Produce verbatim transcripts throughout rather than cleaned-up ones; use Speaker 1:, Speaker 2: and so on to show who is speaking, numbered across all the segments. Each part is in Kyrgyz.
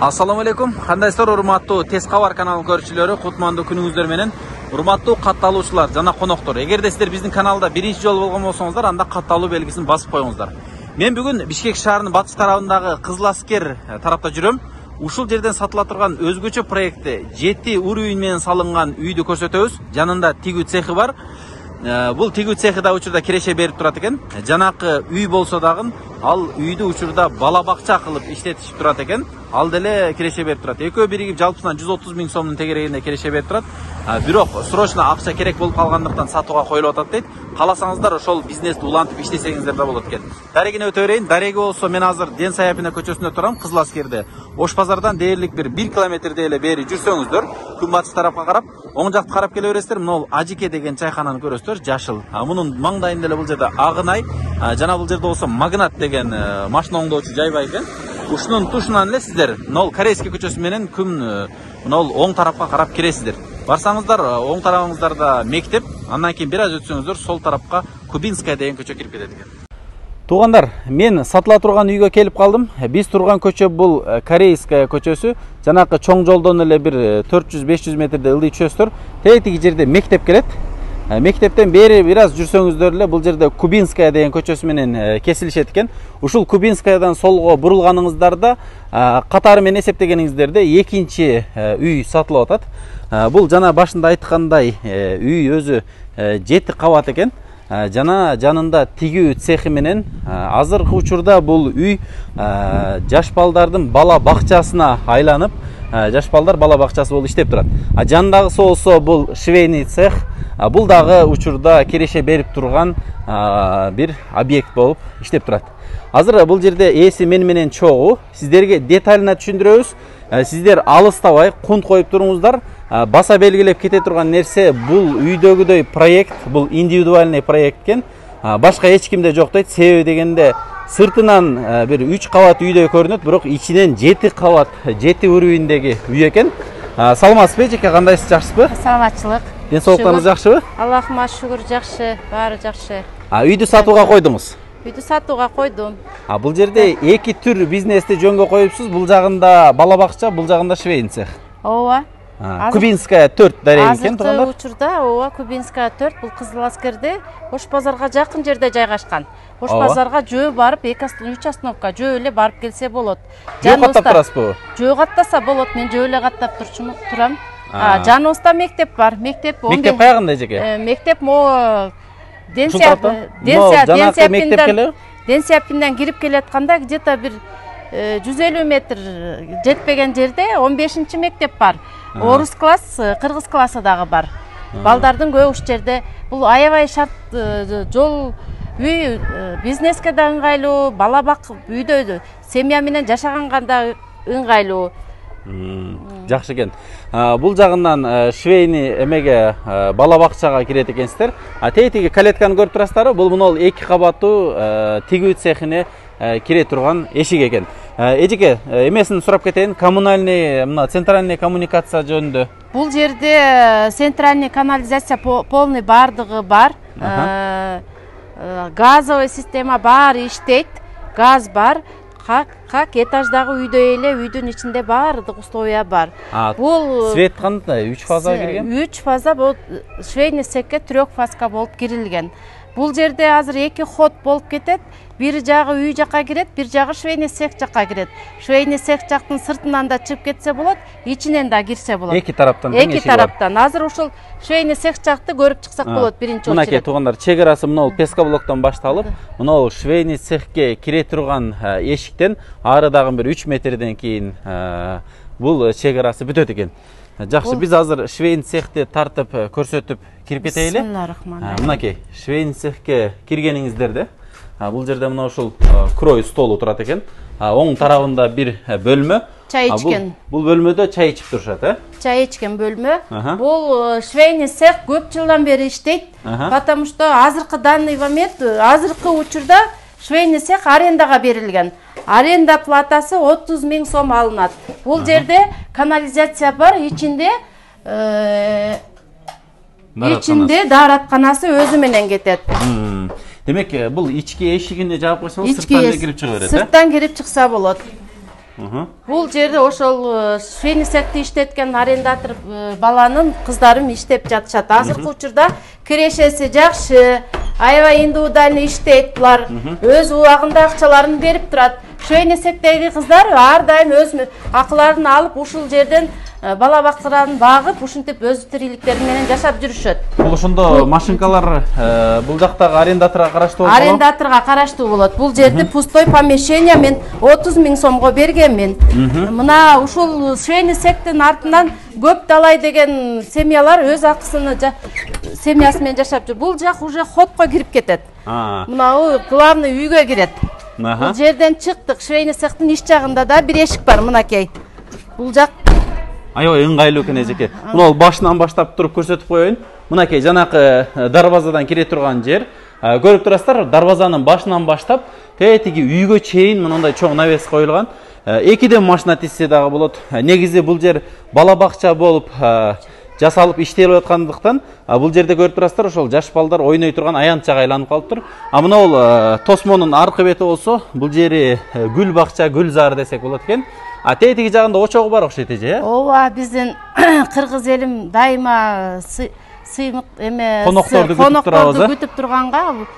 Speaker 1: Assalamu alaikum. Кандайсыздар, урматтуу Тез кабар каналынын көрүүчүлөрү, кутмандуу күнүңүздөр менен. Урматтуу катталуучулар жана коноктор. Эгерде сиздер биздин каналда биринчи жолу болгон болсоңуздар, анда катталуу белгисин басып коюңуздар. Мен бүгүн Бишкек шаарынын батыш тарабындагы Кызыл Аскер тарапта жүрөм. Ушул жерден сатыла турган өзгөчө проектте жети уровень менен салынган үйдү көрсөтөбүз. Жанында тигүү цехи бар. Бул тигүү цехи да учурда киреше берип турат экен. Жанакы үй болсо дагы ал үйдү учурда бала бакча кылып иштетишип турат экен. Ал деле киреше берип турат. Экөө биригип жалпысынан жүз отуз миң сомдун тегерегинде киреше берип турат. Бирок срочно акча керек болуп калгандыктан сатууга коюлуп атат дейт. Кааласаңыздар ошол бизнести улантып иштесеңиздер да болот экен. Дарегине өтө берейин. Дареги болсо мен азыр Ден Саяпина көчөсүндө турам, Кызыл Аскерде. Ош базардан дээрлик бир бир километрдей эле бери жүрсөңүздөр, күнбатыш тарапка карап, оң жакты карап келе бересиздер. Мына Ажике деген чайкананы көрөсүздөр, жашыл. Мунун маңдайында эле бул жерде Агынай, жана бул жерде болсо Магнат деген машина оңдоочу жай бар экен. Ушунун тушунан эле сиздер мына Корейский көчөсү менен күн мына оң тарапка карап киресиздер. Барсаңыздар, оң тарабыңыздарда мектеп, андан кийин бир аз өтсөңүздөр сол тарапка Кубинская деген көчө кирип кетет экен. Туугандар, мен сатыла турган үйгө келип калдым. Биз турган көчө бул Корейская көчөсү. Жанакы чоң жолдон эле бир төрт жүз беш жүз метрде ылдый түшөсүздөр. Тетиги жерде мектеп келет. Мектептен бери бир аз жүрсөңүздөр эле бул жерде Кубинская деген көчөсү менен кесилишет экен. Ушул Кубинскаядан солго бурулганыңыздарда катары менен эсептегениңиздерде экинчи үй сатылып атат. Бул жана башында айткандай үй өзү жети кабат экен. Жана жанында тигүү цехи менен азыркы учурда бул үй жаш балдардын бала бакчасына айланып, жаш балдар бала бакчасы болуп иштеп турат. Жанындагысы болсо бул швейный цех. Бул дагы учурда киреше берип турган бир объект болуп иштеп турат. Азыр бул жерде ээси мен менен чогуу. Сиздерге деталына түшүндүрөбүз. Сиздер алыстабай кунт коюп туруңуздар. Баса белгилеп кете турган нерсе бул үйдөгүдөй проект, бул индивидуальный проект экен. Башка эч кимде жок дейт. Себеби дегенде сыртынан бир үч кабат үйдөй көрүнөт, бирок ичинен жети кабат, жети уровеньдеги үй экен. Саламатсызбы, Жеке, кандайсыз, жакшысызбы?
Speaker 2: Саламатчылык.
Speaker 1: Ден соолуктарыңыз жакшыбы?
Speaker 2: Аллахыма шүгүр, жакшы, баары жакшы.
Speaker 1: Үйдү сатууга койдуңуз?
Speaker 2: Үйдү сатууга койдум.
Speaker 1: Бул жерде эки түр бизнести жөнгө коюпсуз. Бул жагында бала бакча, бул жагында швейный цех.
Speaker 2: Ооба.
Speaker 1: Кубинская төрт дареги экен,
Speaker 2: туугандар. Азыркы учурда ооба Кубинская төрт бул Кызыл Аскерде, Ош базарга жакын жерде жайгашкан. Ош базарга жөө барып, эки үч остановка жөө эле барып келсе болот.
Speaker 1: Жөө каттап турасызбы?
Speaker 2: Жөө каттаса болот, мен жөө эле каттап турам. Жаныбызда мектеп бар. Мектеп
Speaker 1: Мектеп каягында, Жеке?
Speaker 2: Мектеп мо Ден Саяпинден Ден Саяпинден кирип келатканда где-то бир жүз элүү метр жетпеген жерде он бешинчи мектеп бар. Орус класс, кыргыз классы дагы бар. Балдардын көбү ушул жерде. Бул аябай шарт жол үй, бизнеске да ыңгайлуу, бала бак үйдө семья менен жашаганга да ыңгайлуу.
Speaker 1: Жакшы экен. Бул жагынан швейный эмеге бала бакчага кирет экенсиздер. Тетиги калетканы көрүп турасыздарбы? Бул мына эки кабаттуу тигүү цехине кире турган эшик экен. Эжеке, эмесин сурап кетейин, коммунальный, мына центральный коммуникация жөнүндө.
Speaker 2: Бул жерде центральный канализация полный бардыгы бар. Газовый система баары иштейт. Газ бар. Как, как этаждагы үйдөй эле, үйдүн ичинде баардык условия бар.
Speaker 1: Бул свет кандай? үч фаза кирген?
Speaker 2: үч фаза, бул швейный цехке трёх фазка болуп кирилген. Бул жерде азыр эки ход болуп кетет. Бир жагы үй жакка кирет, бир жагы швейный цех жакка кирет. Швейный цех жактын сыртынан да чыгып кетсе болот, ичинен да кирсе болот.
Speaker 1: Эки тараптан.
Speaker 2: Эки тараптан. Азыр ушул швейный цех жакты көрүп чыксак болот биринчи очередь.
Speaker 1: Мынакей туугандар, чек арасы мына пескоблоктон башталып, мына швейный цехке кире турган эшиктен ары дагы бир үч метрден кийин бул чек арасы бүтөт экен. Жакшы, биз азыр швейный цехти тартып көрсөтүп кирип кетели.
Speaker 2: Бисмиллахиррахманиррахим.
Speaker 1: Мынакей швейный цехке киргениңиздерде бул жерде мына ушул крой столу турат экен. Оң тарабында бир бөлмө.
Speaker 2: Чай ичкен.
Speaker 1: Бул бөлмөдө чай ичип турушат, э?
Speaker 2: Чай ичкен бөлмө. Бул швейный цех көп жылдан бери иштейт, потому что азыркы данный момент, азыркы учурда швейный цех арендага берилген. Аренда платасы отуз миң сом алынат. Бул жерде канализация бар, ичинде ичинде дааратканасы өзү менен кетет.
Speaker 1: Демек, бул ички эшигине жаап койсоңуз, сырттан да кирип чыга берет, э?
Speaker 2: Сырттан кирип чыкса болот. Бул жерде ошол швейный цехти иштеткен арендатор баланын кыздары иштеп жатышат. Азыркы учурда кирешеси жакшы, аябай индивидуальный иштейт булар. Өз убагында акчаларын берип турат. Швейный цехтеги кыздар ар дайым өз акыларын алып ушул жерден бала бактырарын багып, ушинтип өз тириликтери менен жашап жүрүшөт.
Speaker 1: Бул ошондо машинкалар бул жактагы арендаторго караштуу болот?
Speaker 2: Арендаторго караштуу болот. Бул жерде пустой помещение мен отуз миң сомго бергенмин. Мына ушул швейный цехтин артынан көп талай деген семьялар өз акысын семьясы менен жашап жүр. Бул жак уже ходко кирип кетет. Мына главный үйгө кирет. Бул жерден чыктык. Швейный цехтин иш жагында да бир эшик бар, мынакей. Бул жак
Speaker 1: аябай ыңгайлуу экен эжеке. Мына ол башынан баштап туруп көрсөтүп коеюн. Мынакей жанакы дарбазадан кире турган жер. Көрүп турасыздар, дарбазанын башынан баштап тетиги үйгө чейин мындай чоң навес коюлган. Экиден машина тизсе дагы болот. Негизи бул жер бала бакча болуп жасалып иштелип аткандыктан бул жерде көрүп турасыздар, ошол жаш балдар ойной турган аянтчага айланып калыптыр. А мына ол тосмонун аркы бети болсо, бул жери гүл бакча, гүл зар десек болот экен. А тетиги жагында очогу бар окшойт эже, э?
Speaker 2: Ооба, биздин кыргыз элим дайыма сыймык эме
Speaker 1: конокторду
Speaker 2: күтүп турганга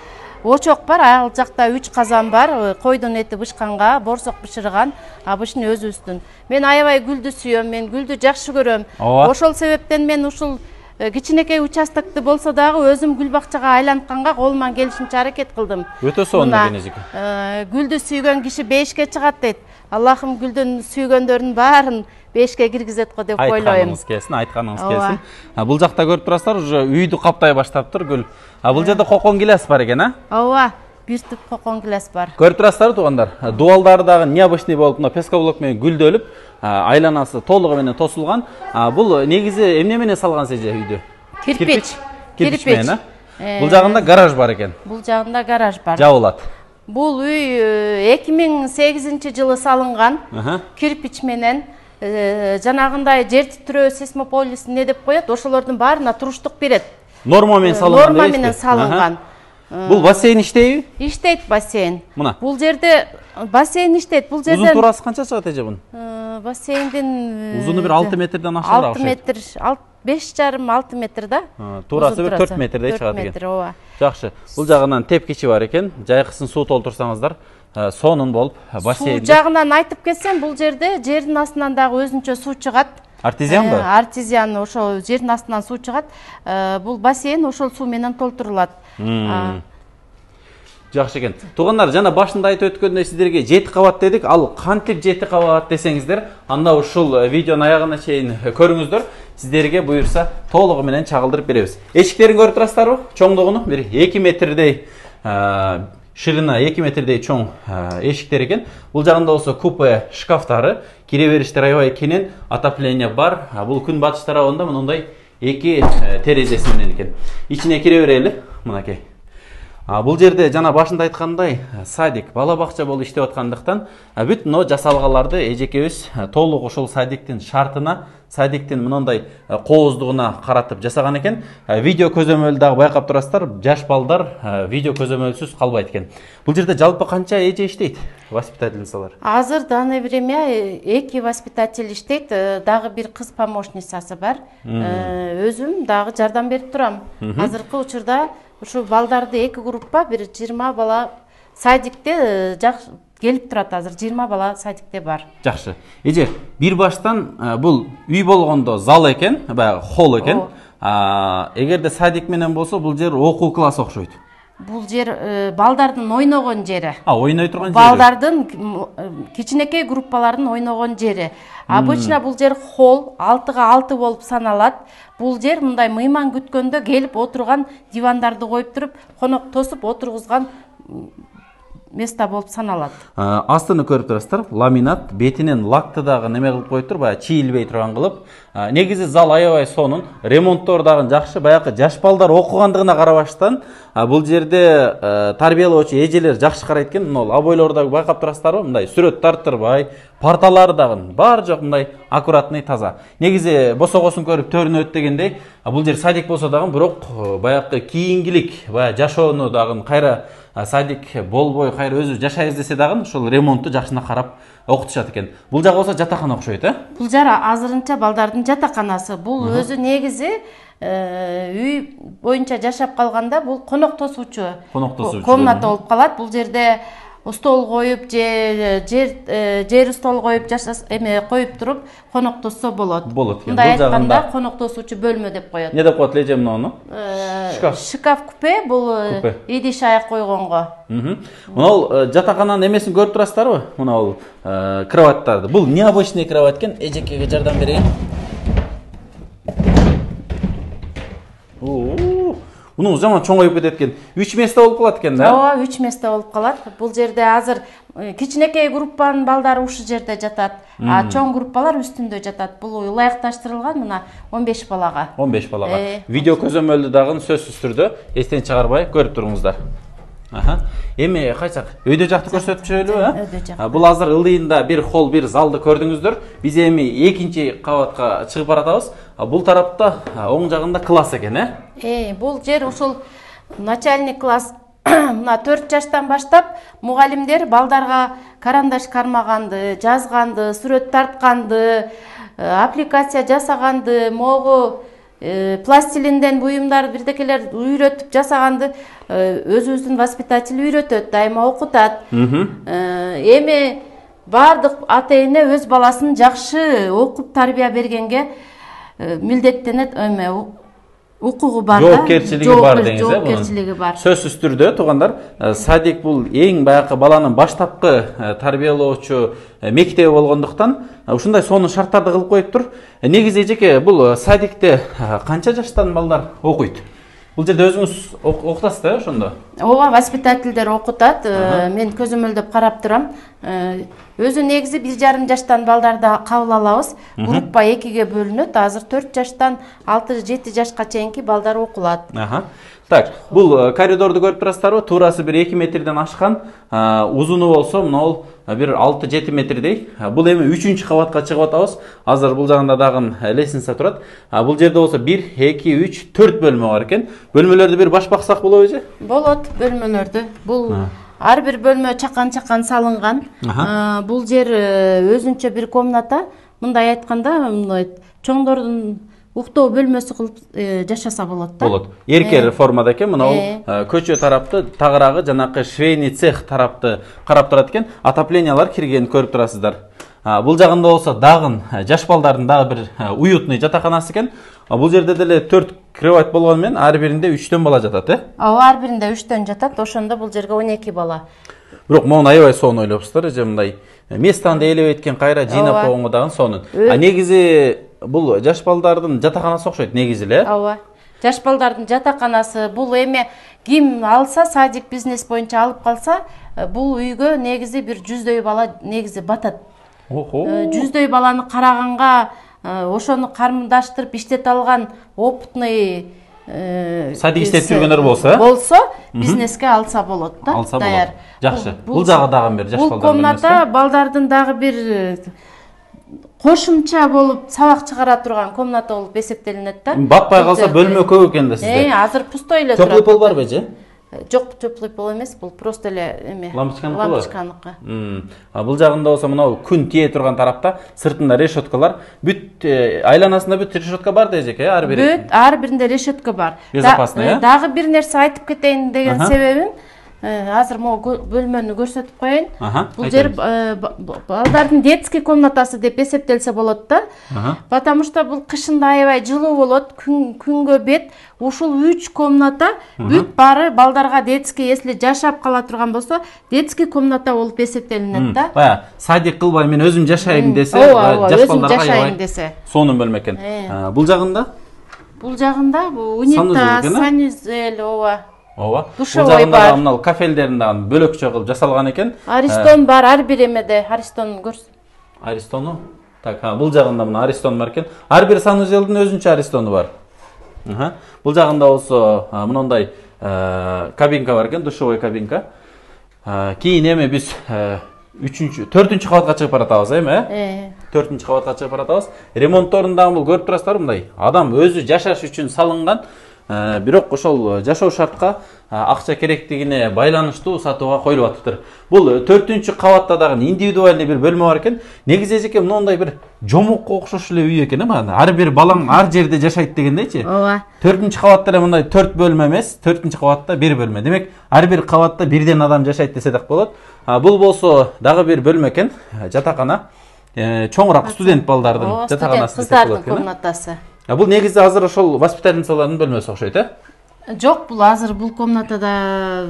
Speaker 2: очок бар. Ал жакта үч казан бар. Койдун эти бышканга, борсок бышырган, абышын өзүбүздүн. Мен аябай гүлдү сүйөм, мен гүлдү жакшы көрөм. Ошол себептен мен ушул кичинекей участокты болсо дагы өзүм гүл бакчага айлантканга колуман келишинче аракет кылдым.
Speaker 1: Өтө сонун экен эжеке.
Speaker 2: Гүлдү сүйгөн киши бешке чыгат дейт. Аллахым гүлдүн сүйгөндөрүнүн баарын бешке киргизет го деп ойлойм.
Speaker 1: Айтканыңыз келсин, айтканыңыз келсин. Бул жакта көрүп турасыздар, уже үйдү каптай баштаптыр гүл. А бул жерде кокон гиляс бар экен, а?
Speaker 2: Ооба, бир түп кокон гиляс бар.
Speaker 1: Көрүп турасыздар туугандар. Дуалдары дагы необычный болуп, мына пескоблок менен гүлдөлүп, айланасы толугу менен тосулган. Бул негизи эмне менен салган эже үйдү?
Speaker 2: Кирпич.
Speaker 1: Кирпич менен, а? Бул жагында гараж бар экен.
Speaker 2: Бул жагында гараж бар.
Speaker 1: Жабылат.
Speaker 2: Бул үй эки миң сегизинчи жылы салынган. Кирпич менен жанагындай жер титирөө сейсмополис не деп коет, ошолордун баарына туруштук берет.
Speaker 1: Норма менен салынган.
Speaker 2: Норма менен салынган.
Speaker 1: Бул бассейн иштейби?
Speaker 2: Иштейт бассейн.
Speaker 1: Мына.
Speaker 2: Бул жерде бассейн иштейт. Бул жерде
Speaker 1: узун турасы канча чыгат эже бунун?
Speaker 2: Бассейндин
Speaker 1: узуну бир алты метрден ашыгыраак
Speaker 2: окшойт. алты метр, беш жарым алты метр да.
Speaker 1: Туурасы бир төрт метрдей чыгат экен.
Speaker 2: төрт метр, ооба.
Speaker 1: Жакшы. Бул жагынан тепкичи бар экен. Жайкысын суу толтурсаңыздар, сонун болуп бассейн.
Speaker 2: Суу жагынан айтып кетсем, бул жерде жердин астынан дагы өзүнчө суу чыгат.
Speaker 1: Артезианбы?
Speaker 2: Артезиан, ошол жердин астынан суу чыгат. Бул бассейн ошол суу менен толтурулат.
Speaker 1: Жакшы экен. Туугандар, жана башында айтып өткөндөй сиздерге жети кабат дедик. Ал кантип жети кабат десеңиздер, анда ушул видеонун аягына чейин көрүңүздөр. Сиздерге буюрса толугу менен чагылдырып беребиз. Эшиктерин көрүп турасыздарбы? Чоңдугуну бир эки метрдей, ширина эки метрдей чоң эшиктер экен. Бул жагында болсо купе шкафтары, кире бериштер аябай кенен, отопление бар. Бул күн батыш тарабында мындай эки терезеси менен экен. Ичине кире берели, мынакей. Бул жерде жана башында айткандай садик, бала бакча болуп иштеп аткандыктан бүт мына жасалгаларды эжекебиз толук ошол садиктин шартына, садиктин мындай кооздугуна каратып жасаган экен. Видео көзөмөлдү дагы байкап турасыздар, жаш балдар видео көзөмөлсүз калбайт экен. Бул жерде жалпы канча эже иштейт? Воспитательницалар?
Speaker 2: Азыр данный время эки воспитатель иштейт, дагы бир кыз помощницасы бар. Өзүм дагы жардам берип турам. Азыркы учурда ушу балдарды эки группа, бир жыйырма бала садикте келип турат. Азыр жыйырма бала садикте бар.
Speaker 1: Жакшы. Эже, бир баштан бул үй болгондо зал экен, баягы холл экен. Эгерде садик менен болсо, бул жер окуу класс окшойт.
Speaker 2: Бул жер балдардын ойногон жери.
Speaker 1: А, ойной турган жери.
Speaker 2: Балдардын кичинекей группалардын ойногон жери. Обычно бул жер холл, алтыга алты болуп саналат. Бул жер мындай мыйман күткөндө келип отурган дивандарды коюп туруп, конок тосуп отургузган место болуп саналат.
Speaker 1: Астыны көрүп турасыздар, ламинат, бетинен лакты дагы неме кылып коюптур, баягы чийилбей турган кылып. Негизи зал аябай сонун, ремонттор дагы жакшы, баягы жаш балдар окугандыгына карабаштан, бул жерде тарбиялоочу эжелер жакшы карайт экен. Мына обойлорду байкап турасыздарбы? Мындай сүрөт тарттырбай, парталары дагы бар жок мындай аккуратный, таза. Негизи босогосун көрүп төрүнөт дегендей, бул жер садик болсо дагы, бирок баягы кийингилик, баягы жашоону дагы кайра садик болбой, кайра өзү жашайбыз десе дагы ошол ремонтту жакшына карап окутушат экен. Бул жагы болсо жатакана окшойт, э?
Speaker 2: Бул жара азырынча балдардын жатаканасы. Бул өзү негизи үй боюнча жашап калганда бул конок тосуучу комната болуп калат. Бул жерде стол коюп же жер жер стол коюп жашас эме коюп туруп коноктосо болот.
Speaker 1: Болот.
Speaker 2: Мындай айтканда коноктосуучу бөлмө деп коет.
Speaker 1: Не деп коет эле муну?
Speaker 2: Шкаф. Шкаф купе бул идиш аяк койгонго.
Speaker 1: Мына жатакананын эмесин көрүп турасыздарбы? Мына бул кроваттарды. Бул необычный кровать экен. Эжекеге жардам берейин. Муну жаман чоңоюп кетет экен. үч месте болуп калат экен да?
Speaker 2: Ооба, үч месте болуп калат. Бул жерде азыр кичинекей группанын балдары ушул жерде жатат. А чоң группалар үстүндө жатат. Бул ылайыкташтырылган мына он беш балага.
Speaker 1: он беш балага. Видео көзөмөлдү дагы сөзсүз түрдө эстен чыгарбай көрүп туруңуздар. Аха. Эми кайсак өйдө жакты көрсөтүп жүрөлүбү, э?
Speaker 2: Өйдө жак.
Speaker 1: Бул азыр ылдыйында бир холл, бир залды көрдүңүздөр. Биз эми экинчи кабатка чыгып баратабыз. Бул тарапта оң жагында класс экен, э?
Speaker 2: Э, бул жер ушул начальник класс мына төрт жаштан баштап мугалимдер балдарга карандаш кармаганды, жазганды, сүрөт тартканды, аппликация жасаганды, могу пластилинден буюмдар бирдекелер үйрөтүп жасаганды өзүбүздүн воспитатель үйрөтөт, дайыма окутат. Эми бардык ата эне өз баласын жакшы окуп тарбия бергенге милдеттенет, эме укугу бар да,
Speaker 1: жоопкерчилиги бар деңиз, э?
Speaker 2: Жоопкерчилиги бар.
Speaker 1: Сөзсүз түрдө туугандар, садик бул эң баягы баланын баштапкы тарбиялоочу мектеби болгондуктан ушундай сонун шарттарды кылып коюптур. Негизи эжеке бул садикте канча жаштан балдар окуйт? Бул жерде өзүңүз окутасыз да, ошондо?
Speaker 2: Ооба, воспитательдер окутат. Мен көзөмөлдөп карап турам. Өзү негизи бир жарым жаштан балдарды кабыл алабыз. Группа экиге бөлүнөт. Азыр төрт жаштан алты жети жашка чейинки балдар окулат.
Speaker 1: Аха. Так, бул коридорду көрүп турасыздарбы? Туурасы бир эки метрден ашкан, узуну болсо мына бир алты жети метрдей. Бул эми үчүнчү кабатка чыгып атабыз. Азыр бул жагында дагы лестница турат. Бул жерде болсо бир эки үч төрт бөлмө бар экен. Бөлмөлөрдү бир баш баксак болобу же?
Speaker 2: Болот, бөлмөлөрдү. Бул ар бир бөлмө чакан-чакан салынган. Бул жер өзүнчө бир комната. Мындай айтканда, чоңдордун уктоо бөлмөсү кылып жашаса болот да.
Speaker 1: Болот. Эркер формада экен. Мына көчө тарапты, тагыраагы жанакы швейный цех тарапты карап турат экен. Отоплениялар киргенин көрүп турасыздар. Бул жагында болсо дагы жаш балдардын дагы бир уютный жатаканасы экен. Бул жерде деле төрт кровать болгону менен ар биринде үчтөн бала жатат, э?
Speaker 2: Ооба, ар биринде үчтөн жатат. Ошондо бул жерге он эки бала.
Speaker 1: Бирок могу аябай сонун ойлопсуздар, же мындай местанды ээлеп эткен кайра жыйнап койгонго дагы сонун. А негизи бул жаш балдардын жатаканасы окшойт негизи эле.
Speaker 2: Ооба. Жаш балдардын жатаканасы бул эми ким алса, садик бизнес боюнча алып калса, бул үйгө негизи бир жүздөй бала негизи батат.
Speaker 1: Охо.
Speaker 2: жүздөй баланы караганга, ошону кармындаштырып иштете алган опытный
Speaker 1: садик иштеп жүргөндөр болсо,
Speaker 2: болсо бизнеске алса болот да.
Speaker 1: Алса болот. Жакшы. Бул жагы дагы бир жаш балдар.
Speaker 2: Бул комната балдардын дагы бир кошумча болуп сабак чыгара турган комната болуп эсептелинет да.
Speaker 1: Батпай калса бөлмө көп экен да сизде.
Speaker 2: Э, азыр пустой эле турат.
Speaker 1: Теплый пол барбы же?
Speaker 2: Жок, теплый пол эмес, бул просто эле эме.
Speaker 1: Лампочканыкы.
Speaker 2: Лампочканыкы.
Speaker 1: А бул жагында болсо мына күн тие турган тарапта сыртында решеткалар, бүт айланасында бүт решетка бар да эжеке, ар бири.
Speaker 2: Бүт ар биринде решетка бар.
Speaker 1: Безопасный, э?
Speaker 2: Дагы бир нерсе айтып кетейин деген себебим, азыр могу бөлмөнү көрсөтүп коеюн. Бул жер балдардын детский комнатасы деп эсептелсе болот да. Потому что бул кышында аябай жылуу болот, күнгө бет. Ушул үч комната бүт бары балдарга детский, если жашап кала турган болсо, детский комната болуп эсептелинет да.
Speaker 1: Бая, садик кылбай мен өзүм жашайм десе,
Speaker 2: жаш балдарга жашайм десе.
Speaker 1: Сонун бөлмө экен. Бул жагында?
Speaker 2: Бул жагында унитаз, санузел, ооба.
Speaker 1: Ооба. Бул жагында мына кафелдерин дагы бөлөкчө кылып жасалган экен.
Speaker 2: Аристон бар, ар бир эмеде Аристон көрсө.
Speaker 1: Аристону? Так, бул жагында мына Аристон бар экен. Ар бир санузелдин өзүнчө Аристону бар. Аха. Бул жагында болсо мындай кабинка бар экен, душевой кабинка. Кийин эми биз үчүнчү, төртүнчү кабатка чыгып баратабыз, эми, э? төртүнчү кабатка чыгып баратабыз. Ремонтторун дагы бул көрүп турасыздар, мындай адам өзү жашаш үчүн салынган бирок ошол жашоо шартка акча керектигине байланыштуу сатууга коюлуп атыптыр. Бул төртүнчү кабатта дагы индивидуальный бир бөлмө бар экен. Негизи эжеке моундай бир жомокко окшош эле үй экен, э? Ар бир балаң ар жерде жашайт дегендейчи.
Speaker 2: Ооба.
Speaker 1: төртүнчү кабатта эле мындай төрт бөлмө эмес, төртүнчү кабатта бир бөлмө. Демек, ар бир кабатта бирден адам жашайт десе так болот. Бул болсо дагы бир бөлмө экен, жатакана. Чоңураак студент балдардын жатаканасы десек болот экен.
Speaker 2: Комнатасы.
Speaker 1: Бул негизи азыр ошол воспитательницалардын бөлмөсү окшойт, э?
Speaker 2: Жок, бул азыр бул комнатада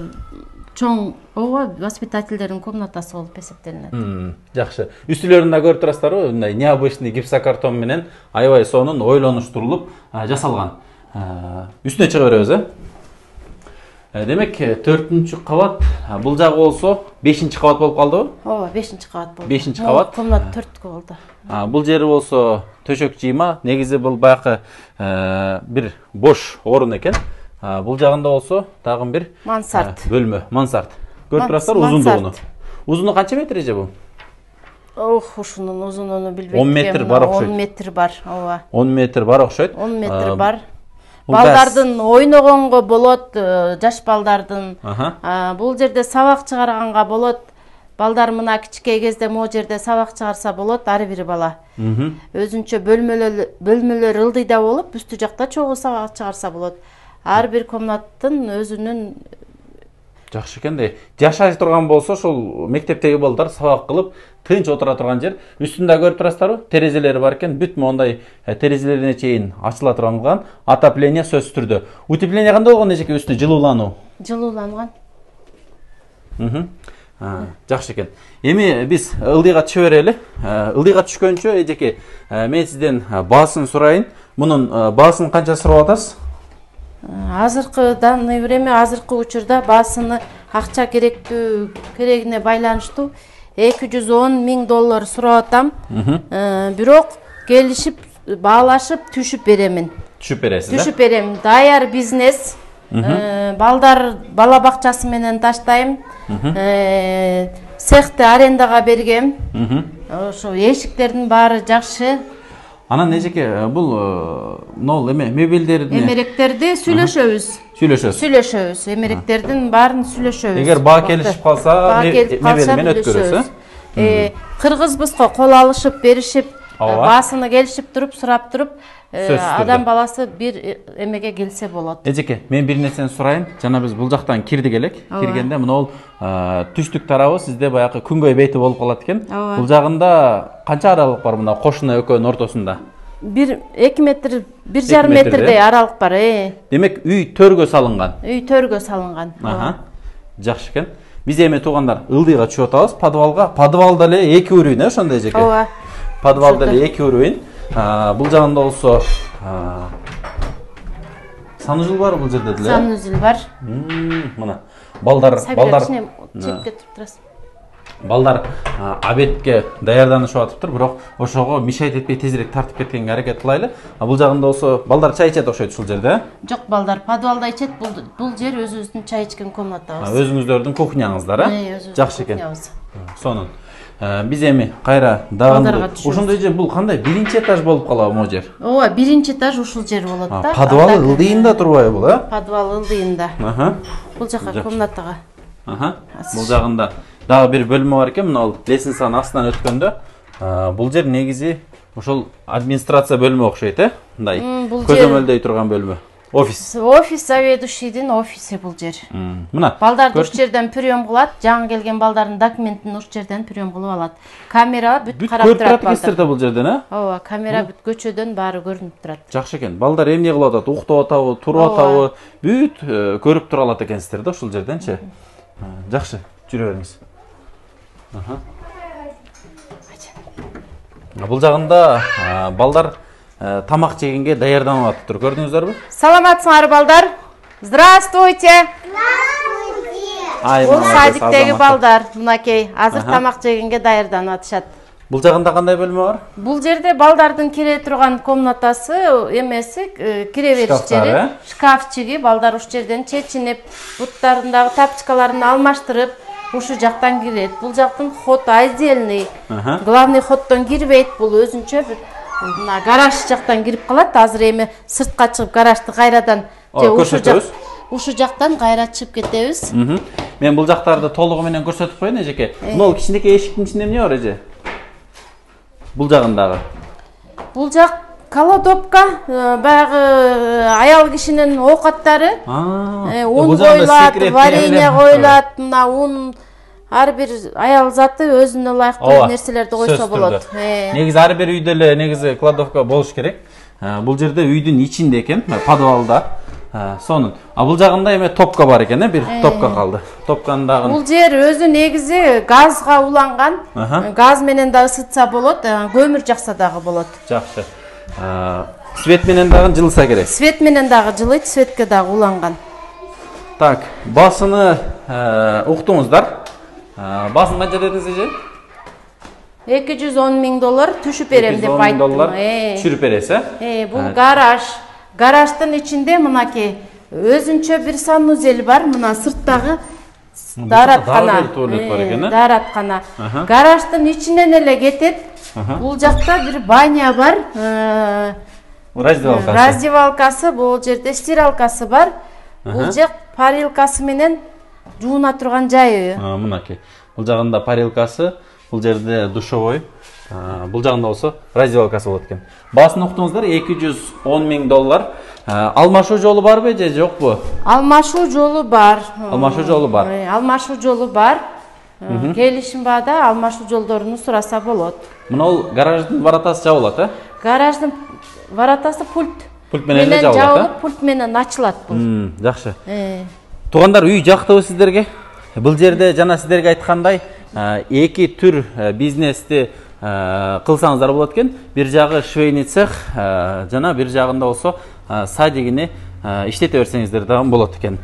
Speaker 2: чоң, ооба, воспитательдердин комнатасы болуп эсептелинет.
Speaker 1: Жакшы. Үстүлөрүндө көрүп турасыздарбы? Мындай необычный гипсокартон менен аябай сонун ойлонуштурулуп жасалган. Үстүнө чыга беребиз, э? Демек, төртүнчү кабат, бул жагы болсо бешинчи кабат болуп калдыбы?
Speaker 2: Ооба, бешинчи кабат болду.
Speaker 1: бешинчи кабат.
Speaker 2: Комната төрткө болду.
Speaker 1: Бул жери болсо төшөк жыйма, негизи бул баякы бир бош орун экен. Бул жагында болсо дагы бир
Speaker 2: мансард
Speaker 1: бөлмө, мансард. Көрүп турасыздар узундугуну. Узуну канча метр эже бул?
Speaker 2: Ох, ушунун узунуну билбейм.
Speaker 1: он метр бар окшойт.
Speaker 2: он метр бар, ооба.
Speaker 1: он метр бар окшойт.
Speaker 2: он метр бар. Балдардын ойногонго болот, жаш балдардын. Бул жерде сабак чыгарганга болот. Балдар мына кичке кезде могу жерде сабак чыгарса болот, ар бир бала. Өзүнчө бөлмөлөр бөлмөлөр ылдыйда болуп, үстү жакта чогуу сабак чыгарса болот. Ар бир комнаттын өзүнүн
Speaker 1: жакшы экен да. Жашай турган болсо, ошол мектептеги балдар сабак кылып, тынч отура турган жер. Үстүндө көрүп турасыздарбы? Терезелери бар экен. Бүт мондай терезелерине чейин ачыла турган, отопление сөзсүз түрдө. Утепление кандай болгон эжеке, үстүнө жылуулануу?
Speaker 2: Жылууланган.
Speaker 1: Жакшы экен. Эми биз ылдыйга түшө берели. Ылдыйга түшкөнчө эжеке, мен сизден баасын сурайын. Мунун баасын канча сурап атасыз?
Speaker 2: Азыркы данный время, азыркы учурда баасыны акча керектүү керегине байланыштуу эки жүз он миң доллар сурап атам. Бирок келишип, баалашып түшүп беремин.
Speaker 1: Түшүп бересиз, э?
Speaker 2: Түшүп берем. Даяр бизнес. Балдар бала бакчасы менен таштайм. Цехти арендага бергем. Ошо эшиктердин баары жакшы.
Speaker 1: Анан эжеке, бул нол эме мебелдерди,
Speaker 2: эмеректерди сүйлөшөбүз.
Speaker 1: Сүйлөшөбүз.
Speaker 2: Сүйлөшөбүз. Эмеректердин баарын сүйлөшөбүз.
Speaker 1: Эгер баа келишип калса, мебели менен өткөрөсүз,
Speaker 2: э? Кыргызбызго кол алышып, беришип, баасыны келишип туруп, сурап туруп, адам баласы бир эмеге келсе болот.
Speaker 1: Эжеке, мен бир нерсени сурайын. Жана биз бул жактан кирдик элек. Киргенде мына бул түштүк тарабы сизде баягы күнгөй бети болуп калат экен. Бул жагында канча аралык бар мына кошуна экөөнүн ортосунда?
Speaker 2: бир эки метр, бир жарым метрдей аралык бар, э.
Speaker 1: Демек, үй төргө салынган.
Speaker 2: Үй төргө салынган.
Speaker 1: Аха. Жакшы экен. Биз эми туугандар ылдыйга түшүп атабыз, подвалга. Подвалда эле эки уровень, э, ошондой эжеке.
Speaker 2: Ооба.
Speaker 1: Подвалда эле эки уровень. Бул жагында болсо санузел бар бул жерде деле.
Speaker 2: Санузел бар.
Speaker 1: Мына балдар, балдар
Speaker 2: чепке туруп турасыз.
Speaker 1: Балдар обедке даярданышып атыптыр, бирок ошого мешайт этпей тезирээк тартып кеткенге аракет кылайлы. Бул жагында болсо балдар чай ичет окшойт ушул жерде.
Speaker 2: Жок, балдар подвалда ичет. Бул жер өзүбүздүн чай ичкен комнатабыз.
Speaker 1: Өзүңүздөрдүн кухняңыздар, э? Жакшы экен. Сонун. Биз эми кайра дагы ошондой жер, бул кандай биринчи этаж болуп калабы могу жер?
Speaker 2: Ооба, биринчи этаж ушул жер болот да.
Speaker 1: Подвал ылдыйында турбайбы бул, э?
Speaker 2: Подвал ылдыйында.
Speaker 1: Аха.
Speaker 2: Бул жака комнатага.
Speaker 1: Аха. Бул жагында дагы бир бөлмө бар экен, мына лестницанын астынан өткөндө. Бул жер негизи ошол администрация бөлмө окшойт, э? Мындай көзөмөлдөй турган бөлмө. Офис.
Speaker 2: Офис заведующийдин офиси бул жер.
Speaker 1: Мына.
Speaker 2: Балдарды уш жерден прием кылат, жаңы келген балдардын документин уш жерден прием кылып алат. Камера бүт карап турат балдар.
Speaker 1: Бул жерден, э?
Speaker 2: Ооба, камера бүт көчөдөн баары көрүнүп турат.
Speaker 1: Жакшы экен. Балдар эмне кылып атат? Уктап атабы, туруп атабы? Бүт көрүп тура алат экенсиздер да ушул жерденчи. Жакшы, жүрө бериңиз. Аха. Бул жагында балдар тамак жегенге даярданып атыптыр. Көрдүңүздөрбү?
Speaker 2: Саламатсыңарбы балдар? Здравствуйте.
Speaker 1: Здравствуйте.
Speaker 2: Бул садиктеги балдар, мынакей, азыр тамак жегенге даярданып атышат.
Speaker 1: Бул жагында кандай бөлмө бар?
Speaker 2: Бул жерде балдардын кире турган комнатасы, эмеси, кире бериш жери, шкафчиги, балдар уш жерден чечинип, буттарындагы тапчкаларын алмаштырып, ушу жактан кирет. Бул жактын ход отдельный. Главный ходдон кирбейт, бул өзүнчө бир мына гараж жактан кирип калат. Азыр эми сыртка чыгып гаражды кайрадан же ушу жак ушу жактан кайра чыгып кетебиз.
Speaker 1: Мен бул жактарды толугу менен көрсөтүп коеюн эжеке. Могул кичинекей эшиктин ичинде эмне бар эже? Бул жагындагы.
Speaker 2: Бул жак кладовка, баягы аял кишинин оокаттары. Un коюлат, варенье коюлат, мына un ар бир аял заты өзүнө ылайыктуу нерселерди койсо болот.
Speaker 1: Негизи ар бир үйдө эле негизи кладовка болуш керек. Бул жерде үйдүн ичинде экен, подвалда. Сонун. А бул жагында эме топка бар экен, бир топка калды. Топканын дагы.
Speaker 2: Бул жер өзү негизи газга уланган. Газ менен да ысытса болот, көмүр жакса дагы болот.
Speaker 1: Жакшы. Свет менен дагы жылыса керек.
Speaker 2: Свет менен дагы жылыйт, светке дагы уланган.
Speaker 1: Так, басыны уктуңуздар. Басын канча дедиңиз эже?
Speaker 2: эки жүз он миң доллар түшүп берем деп айттым.
Speaker 1: Түшүрүп бересиз,
Speaker 2: э? Бул гараж. Гараждын ичинде мынакей өзүнчө бир санузел бар. Мына сырттагы даараткана. Даараткана. Гараждын ичинен эле кетет. Бул жакта бир баня бар.
Speaker 1: Раздевалкасы.
Speaker 2: Раздевалкасы, бул жерде стиралкасы бар. Бул жак парилкасы менен жууна турган жайы.
Speaker 1: Мынакей. Бул жагында парилкасы, бул жерде душевой. Бул жагында болсо раздевалкасы болот экен. Баасын уктуңуздар, эки жүз он миң доллар. Алмашуу жолу барбы же жокпу?
Speaker 2: Алмашуу жолу бар.
Speaker 1: Алмашуу жолу бар.
Speaker 2: Алмашуу жолу бар. Келишим баада алмашуу жолдоруну сураса болот.
Speaker 1: Мына ол гараждын воротасы жабылат, э?
Speaker 2: Гараждын воротасы пульт.
Speaker 1: Пульт менен эле жабылат, э?
Speaker 2: Пульт менен ачылат бул.
Speaker 1: Жакшы. Туугандар, үй жактыбы сиздерге? Бул жерде жана сиздерге айткандай, эки түр бизнести кылсаңыздар болот экен. Бир жагы швейный цех, жана бир жагында болсо садигини иштете берсеңиздер дагы болот экен.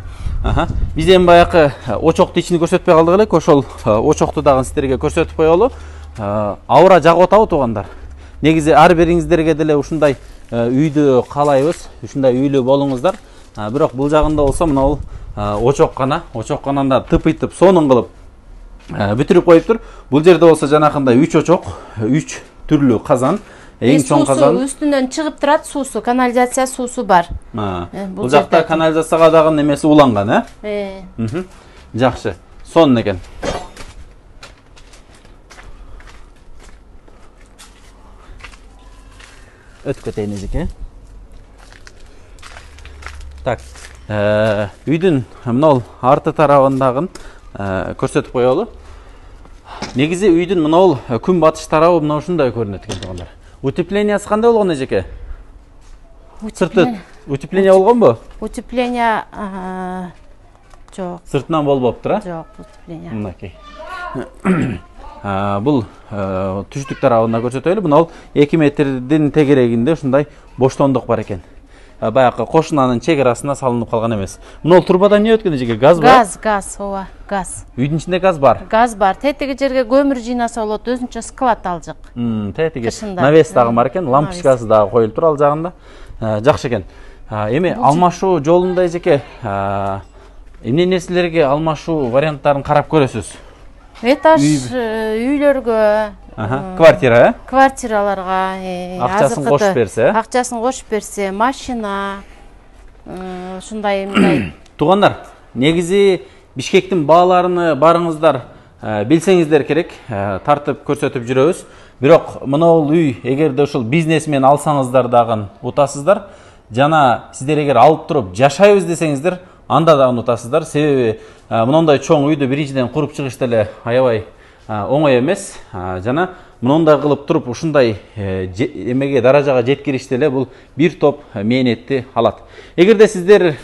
Speaker 1: Биз эми баягы очокту ичини көрсөтпөй калдык элек, ошол очокту дагы сиздерге көрсөтүп коелу. Аура жагып атабы туугандар? Негизи ар бириңиздерге деле ушундай үйдү каалайбыз, ушундай үйлүү болуңуздар. Бирок бул жагында болсо мына бул очоккана, очоккананда тыпыйтып сонун кылып бүтүрүп коюптур. Бул жерде болсо жанакындай үч очок, үч түрлүү казан, эң чоң казан.
Speaker 2: Үстүнөн чыгып турат суусу, канализация суусу бар.
Speaker 1: Бул жакта канализацияга дагы немеси уланган, э? Жакшы. Сонун экен. Өтүп кетейин эжеке. Так, үйдүн мына арты тарабындагын көрсөтүп коелу. Негизи үйдүн мына күн батыш тарабы мына ушундай көрүнөт экен туугандар. Утеплениясы кандай болгон эжеке? Сырты утепление болгонбу?
Speaker 2: Утепление жок.
Speaker 1: Сыртынан болбоптур, а?
Speaker 2: Жок, утепление.
Speaker 1: Мынакей. Бул түштүк тарабында көрсөтөлү. Мына эки метрдин тегерегинде ушундай боштондук бар экен. Баягы кошунанын чек арасына салынып калган эмес. Мына турбада эмне өткөн эжеке? Газ бар?
Speaker 2: Газ, газ, ооба, газ.
Speaker 1: Үйдүн ичинде газ бар?
Speaker 2: Газ бар. Тетиги жерге көмүр жыйнаса болот, өзүнчө склад алжык.
Speaker 1: Тетиги навес дагы бар экен, лампочкасы дагы коюлуп тур ал жагында. Жакшы экен. Эми алмашуу жолунда эжеке эмне нерселерге алмашуу варианттарын карап көрөсүз?
Speaker 2: Этаж үйлөргө,
Speaker 1: квартира, э?
Speaker 2: Квартираларга,
Speaker 1: акчасын кошуп берсе,
Speaker 2: акчасын кошуп берсе, машина, ушундай эмне.
Speaker 1: Туугандар, негизи Бишкектин бааларыны барыңыздар билсеңиздер керек, тартып көрсөтүп жүрөбүз. Бирок мына бул үй эгерде ушул бизнес менен алсаңыздар дагы утасыздар, жана сиздер эгер алып туруп жашайбыз десеңиздер, анда дагы утасыздар. Себеби мындай чоң үйдү биринчиден куруп чыгыш деле аябай оңой эмес. Жана мындай кылып туруп ушундай эмеге даражага жеткириш деле бул бир топ мээнетти алат. Эгерде сиздер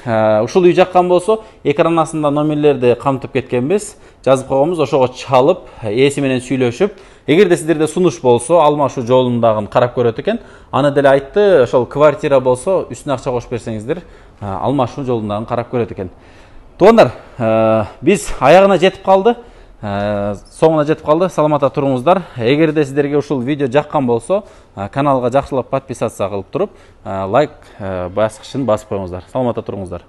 Speaker 1: ушул үй жаккан болсо, экран астында номерлерди камтып кеткенбиз, жазып койгонбуз, ошого чалып, ээси менен сүйлөшүп, эгерде сиздерде сунуш болсо, алмашуу жолундагы карап көрөт экен. Аны деле айтты, ошол квартира болсо, үстүнө акча кошуп берсеңиздер, алмашуу жолундагы карап көрөт экен. Туугандар, биз аягына жетип калды. Соңуна жетип калды. Саламатта туруңуздар. Эгерде сиздерге ушул видео жаккан болсо, каналга жакшылап подписаться кылып туруп, лайк баскычын басып коюңуздар. Саламатта туруңуздар.